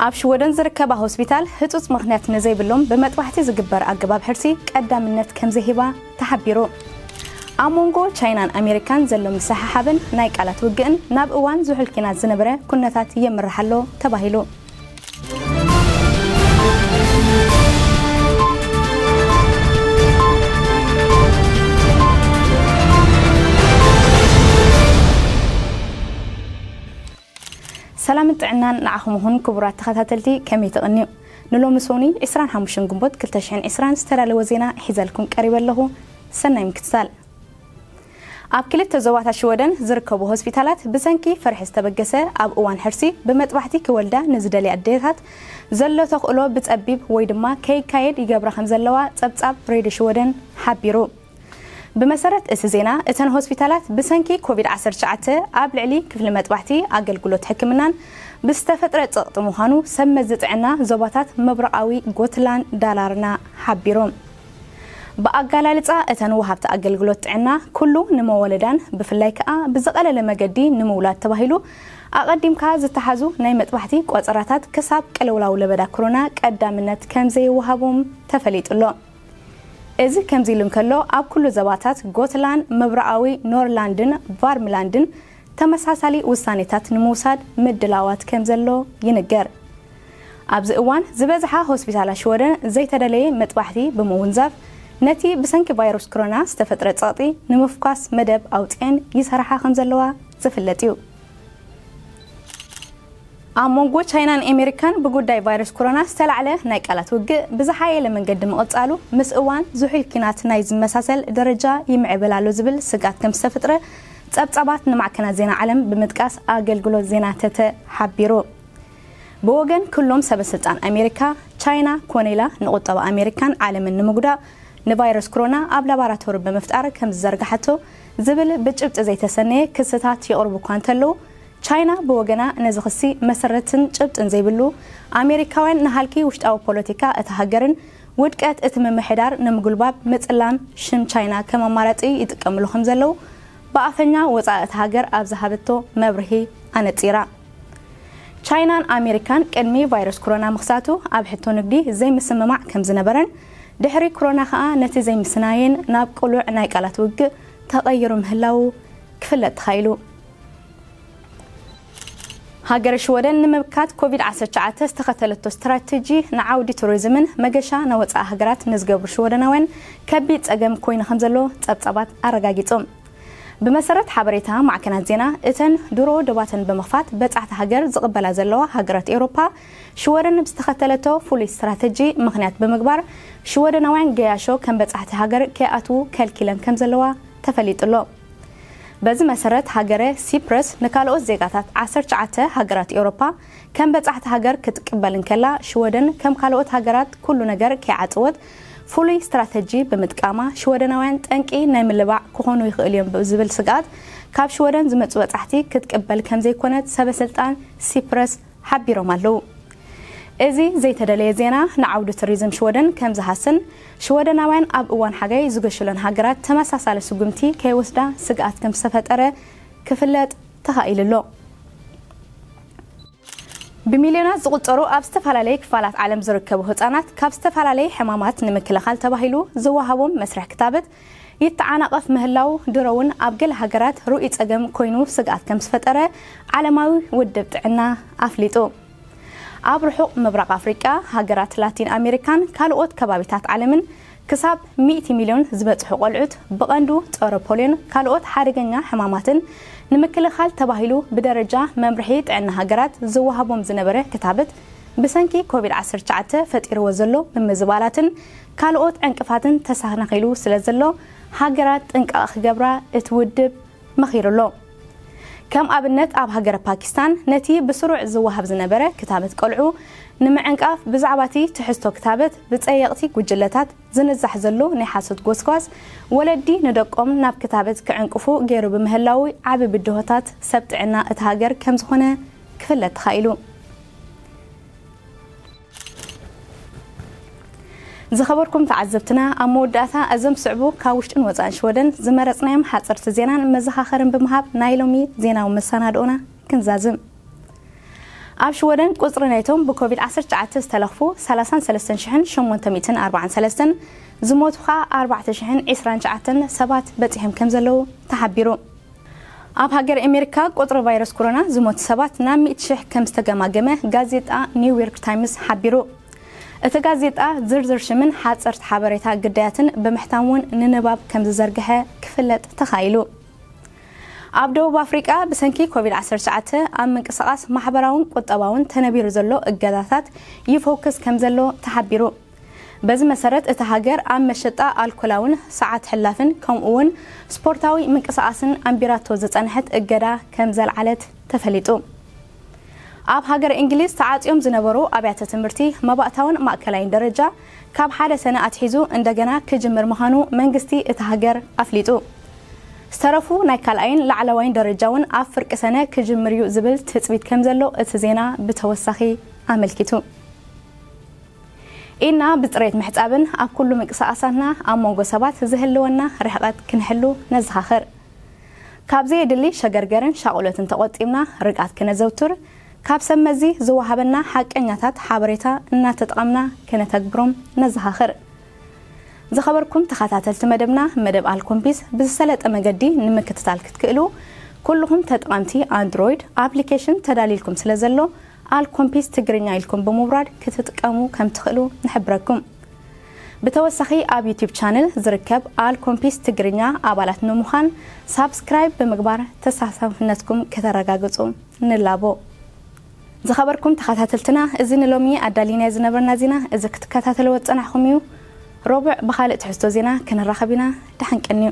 ኣብ ሽወደን ዝርከባ ሆስፒታል ህጹጽ ምኽንያት ንዘይብሎም ብመጥባሕቲ ዝግበር ኣገባብ ሕርሲ ቀዳምነት ከም ዘይህባ ተሓቢሩ። ኣብ መንጎ ቻይናን ኣሜሪካን ዘሎ ምስሕሓብን ናይ ቃላት ውግእን ናብ እዋን ዝሑል ኲናት ዝነበረ ኩነታት የምርሕ ኣሎ ተባሂሉ። ሰላምን ጥዕናን ንዓኹም ይኹን ክቡራት ተኸታተልቲ፣ ከመይ ትቕንዩ? ንሎሚ ሶኒ ዕስራን ሓሙሽተን ግንቦት ክልተ ሽሕን ዕስራን ዝተዳለወ ዜና ሒዘልኩም ቀሪበ ኣለኹ። ሰናይ ምክትታል። ኣብ ክልተ ዞባታት ሽወደን ዝርከቡ ሆስፒታላት ብሰንኪ ፍርሒ ዝተበገሰ ኣብ እዋን ሕርሲ ብመጥባሕቲ ክወልዳ ንዝደልያ ኣዴታት ዘሎ ተኽእሎ ብጸቢብ ወይ ድማ ከይካየድ ይገብራ ከም ዘለዋ ጸብጻብ ሬድዮ ሽወደን ሓቢሩ። ብመሰረት እቲ ዜና፣ እተን ሆስፒታላት ብሰንኪ ኮቪድ ዓሰርተ ትሽዓተ ኣብ ልዕሊ ክፍሊ መጥባሕቲ ኣገልግሎት ሕክምናን ብዝተፈጥረ ጸቕጢ ምዃኑ ሰብ መዚ ጥዕና ዞባታት ምብራቓዊ ጎትላንድ ዳላርና ሓቢሮም። ብኣገላልጻ እተን ወሃብቲ ኣገልግሎት ጥዕና፣ ኩሉ ንመወለዳን ብፍላይ ከኣ ብዝቐለለ መገዲ ንምውላድ ተባሂሉ ኣቐዲምካ ዝተሓዙ ናይ መጥባሕቲ ቆጸራታት ክሳብ ቅልውላው ለበዳ ኮሮና ቀዳምነት ከም ዘይወሃቦም ተፈሊጡ ኣሎ። እዚ ከምዚ ኢሉ እንከሎ፣ ኣብ ኩሉ ዞባታት ጎትላንድ፣ ምብራቓዊ ኖርላንድን ቫርምላንድን ተመሳሳሊ ውሳኔታት ንምውሳድ ምድላዋት ከም ዘሎ ይንገር። ኣብዚ እዋን ዝበዝሓ ሆስፒታላት ሽወደን ዘይተደለየ መጥባሕቲ ብምውንዛፍ፣ ነቲ ብሰንኪ ቫይረስ ኮሮና ዝተፈጥረ ጸቕጢ ንምፍኳስ መደብ ኣውጺአን ይሰርሓ ከም ዘለዋ ዝፍለጥ እዩ። ኣብ መንጎ ቻይናን ኣሜሪካን ብጉዳይ ቫይረስ ኮሮና ዝተላዕለ ናይ ቃላት ውግእ ብዝሓየለ መንገዲ ምቕጻሉ፣ ምስ እዋን ዝሑል ኲናት ናይ ዝመሳሰል ደረጃ ይምዕብል ኣሎ ዝብል ስግኣት ከም ዝተፈጥረ ጸብጻባት ንማዕከናት ዜና ዓለም ብምጥቃስ ኣገልግሎት ዜና ተተ ሓቢሩ። ብወገን ኩሎም ሰበ ስልጣን ኣሜሪካ፣ ቻይና ኮነ ኢላ ንቁጠባ ኣሜሪካን ዓለምን ንምጉዳእ ንቫይረስ ኮሮና ኣብ ላቦራቶሪ ብምፍጣር ከም ዝዘርግሓቶ ዝብል ብጭብጢ ዘይተሰነየ ክስታት ይቕርቡ እኳ እንተለዉ፣ ቻይና ብወገና ነዚ ክሲ መሰረትን ጭብጥን ዘይብሉ፣ ኣሜሪካውያን ንሃልኪ ውሽጣዊ ፖለቲካ እታ ሃገርን ውድቀት እቲ ምምሕዳር ንምጉልባብ ምጽላም ሽም ቻይና ከም ኣማራጺ ይጥቀምሉ ከም ዘለዉ ብኣፈኛ ወጻኢ እታ ሃገር ኣብ ዝሃበቶ መብርሂ ኣነጺራ። ቻይናን ኣሜሪካን ቅድሚ ቫይረስ ኮሮና ምኽሳቱ ኣብ ሕቶ ንግዲ ዘይምስምማዕ ከም ዝነበረን፣ ድሕሪ ኮሮና ከኣ ነቲ ዘይምስናየን ናብ ቅሉዕ ናይ ቃላት ውግእ ተቐይሩ ምህላዉ ክፍለጥ ተኻኢሉ። ሃገረ ሽወደን ንምምካት ኮቪድ ዓሰርተ ትሽዓተ ዝተኸተለቶ ስትራተጂ ንዓውዲ ቱሪዝምን መገሻ ናይ ወጻኢ ሃገራት ንዝገብሩ ሽወደናውያን ከቢድ ጸገም ኮይኑ ከም ዘሎ ጸብጻባት ኣረጋጊጾም። ብመሰረት ሓበሬታ ማዕከናት ዜና፣ እተን ድሮ ዶባተን ብምኽፋት በጻሕቲ ሃገር ዝቕበላ ዘለዋ ሃገራት ኤውሮፓ፣ ሽወደን ብዝተኸተለቶ ፍሉይ ስትራተጂ ምኽንያት ብምግባር፣ ሽወደናውያን ገያሾ ከም በጻሕቲ ሃገር ከይኣትዉ ከልኪለን ከም ዘለዋ ተፈሊጡ ኣሎ። በዚ መሰረት፣ ሃገረ ሲፕረስ ንካልኦት ዜጋታት ዓሰርተ ትሽዓተ ሃገራት ኤውሮፓ ከም በጻሕቲ ሃገር ክትቅበል እንከላ፣ ሽወደን ከም ካልኦት ሃገራት ኩሉ ነገር ከይዓጸወት ፍሉይ ስትራተጂ ብምጥቃማ፣ ሽወደናውያን ጠንቂ ናይ ምልባዕ ክኾኑ ይኽእሉ እዮም ብዝብል ስግኣት፣ ካብ ሽወደን ዝመጹ በጻሕቲ ክትቅበል ከም ዘይኮነት ሰበ ስልጣን ሲፕረስ ሓቢሮም ኣለዉ። እዚ ዘይተደለየ ዜና ንዓውዲ ቱሪዝም ሽወደን ከም ዝሃስን፣ ሽወደናውያን ኣብ እዋን ሓጋይ ዝገሹለን ሃገራት ተመሳሳሊ ስጉምቲ ከይወስዳ ስግኣት ከም ዝተፈጠረ ክፍለጥ ተኻኢሉ ኣሎ። ብሚልዮናት ዝቑጸሩ ኣብ ዝተፈላለየ ክፋላት ዓለም ዝርከቡ ህጻናት ካብ ዝተፈላለየ ሕማማት ንምክልኻል ተባሂሉ ዝወሃቦም መስርሕ ክታበት ይተዓናቐፍ ምህላው ድሮ እውን ኣብ ገለ ሃገራት ርኡይ ጸገም ኮይኑ ስግኣት ከም ዝፈጠረ ዓለማዊ ውድብ ጥዕና ኣፍሊጡ። ኣብ ርሑቕ ምብራቕ ኣፍሪቃ፣ ሃገራት ላቲን ኣሜሪካን ካልኦት ከባቢታት ዓለምን ክሳብ ሚእቲ ሚልዮን ዝበጽሑ ቆልዑት ብቐንዱ ጸረ ፖልዮን ካልኦት ሓደገኛ ሕማማትን ንምክልኻል ተባሂሉ ብደረጃ መምርሒ ጥዕና ሃገራት ዝወሃቦም ዝነበረ ክታበት ብሰንኪ ኮቪድ ዓሰርተ ትሽዓተ ፈጢርዎ ዘሎ ምምዝባላትን ካልኦት ዕንቅፋትን ተሰናኺሉ ስለ ዘሎ ሃገራት ጥንቃቐ ክገብራ እቲ ውድብ መኺሩ ኣሎ። ከም ኣብነት ኣብ ሃገረ ፓኪስታን ነቲ ብስሩዕ ዝወሃብ ዝነበረ ክታበት ቆልዑ ንምዕንቃፍ ብዛዕባ እቲ ትሕዝቶ ክታበት ብጸየቕቲ ጉጅለታት ዝንዛሕ ዘሎ ናይ ሓሶት ጎስጓስ ወለዲ ንደቆም ናብ ክታበት ክዕንቅፉ ገይሩ ብምህላው ዓቢ ብድሆታት ሰብ ጥዕና እታ ሃገር ከም ዝኾነ ክፍለጥ ተኻኢሉ። ዝኸበርኩም ተዓዘብትና፣ ኣብ መወዳእታ እዞም ዝስዕቡ ካብ ውሽጥን ወጻእን ሽወደን ዝመረጽናዮም ሓጸርቲ ዜናን መዘኻኸርን ብምሃብ ናይ ሎሚ ዜናዊ መሰናድኦና ክንዛዝም። ኣብ ሽወደን ቁጽሪ ናይቶም ብኮቪድ ዓሰርተ ትሽዓተ ዝተለኽፉ ሰላሳን ሰለስተን ሽሕን ሸሞንተ ሚእትን ኣርባዓን ሰለስተን፣ ዝሞቱ ኸኣ ኣርባዕተ ሽሕን ዕስራን ትሽዓተን ሰባት በጺሖም ከም ዘለዉ ተሓቢሩ። ኣብ ሃገር ኣሜሪካ ቁጽሪ ቫይረስ ኮሮና ዝሞቱ ሰባት ናብ ሚእቲ ሽሕ ከም ዝተገማገመ ጋዜጣ ኒው ዮርክ ታይምስ ሓቢሩ። እቲ ጋዜጣ ዝርዝር ሽምን ሓጸርቲ ሓበሬታ ግዳያትን ብምሕታም እውን ንንባብ ከም ዝዘርግሐ ክፍለጥ ተኻኢሉ። ኣብ ደቡብ ኣፍሪቃ ብሰንኪ ኮቪድ ዓሰርተ ትሽዓተ ኣብ ምንቅስቓስ ማሕበራውን ቁጠባውን ተነቢሩ ዘሎ እገዳታት ይፎክስ ከም ዘሎ ተሓቢሩ። በዚ መሰረት እታ ሃገር ኣብ መሸጣ ኣልኮላውን ሰዓት ሕላፍን ከምኡ እውን ስፖርታዊ ምንቅስቓስን ኣንቢራቶ ዝጸንሐት እገዳ ከም ዘልዓለት ተፈሊጡ። ኣብ ሃገር እንግሊዝ ተዓጽዮም ዝነበሩ ኣብያተ ትምህርቲ መባእታውን ማእከላይን ደረጃ ካብ ሓደ ሰነ ኣትሒዙ እንደገና ክጅምር ምዃኑ መንግስቲ እታ ሃገር ኣፍሊጡ። ዝተረፉ ናይ ካልኣይን ላዕለዋይን ደረጃ እውን ኣብ ፍርቂ ሰነ ክጅምር እዩ ዝብል ትጽቢት ከም ዘሎ እቲ ዜና ብተወሳኺ ኣመልኪቱ። ኢድና ብጽሬት ምሕጻብን ኣብ ኩሉ ምንቅስቓሳትና ኣብ መንጎ ሰባት ዝህልወና ርሕቐት ክንሕሉ ነዘኻኽር። ካብ ዘየድሊ ሸገርገርን ሻቑሎትን ተቖጢብና ርግኣት ክነዘውትር፣ ካብ ሰብ መዚ ዝወሃበና ሓቀኛታት ሓበሬታ እናተጠቐምና ክነተግብሮም ነዘኻኽር። ዝኸበርኩም ተኸታተልቲ መደብና፣ መደብ ኣልኮምፒስ ብዝሰለጠ መገዲ ንምክትታል ክትክእሉ፣ ኩልኹም ተጠቐምቲ ኣንድሮይድ ኣፕሊኬሽን ተዳሊልኩም ስለ ዘሎ፣ ኣልኮምፒስ ትግርኛ ኢልኩም ብምውራድ ክትጥቀሙ ከም ትኽእሉ ንሕብረኩም። ብተወሳኺ ኣብ ዩቲዩብ ቻነል ዝርከብ ኣልኮምፒስ ትግርኛ ኣባላት ንምዃን ሳብስክራይብ ብምግባር ተሳታፍነትኩም ከተረጋግጹ ንላቦ። ዝኸበርኩም ተኸታተልትና፣ እዚ ንሎሚ ኣዳሊናዮ ዝነበርና ዜና እዚ ክትከታተልዎ ዝጸናሕኩም እዩ። ረቡዕ ብኻልእ ትሕዝቶ ዜና ክንራኸብ ኢና። ደሓን ቀንዩ።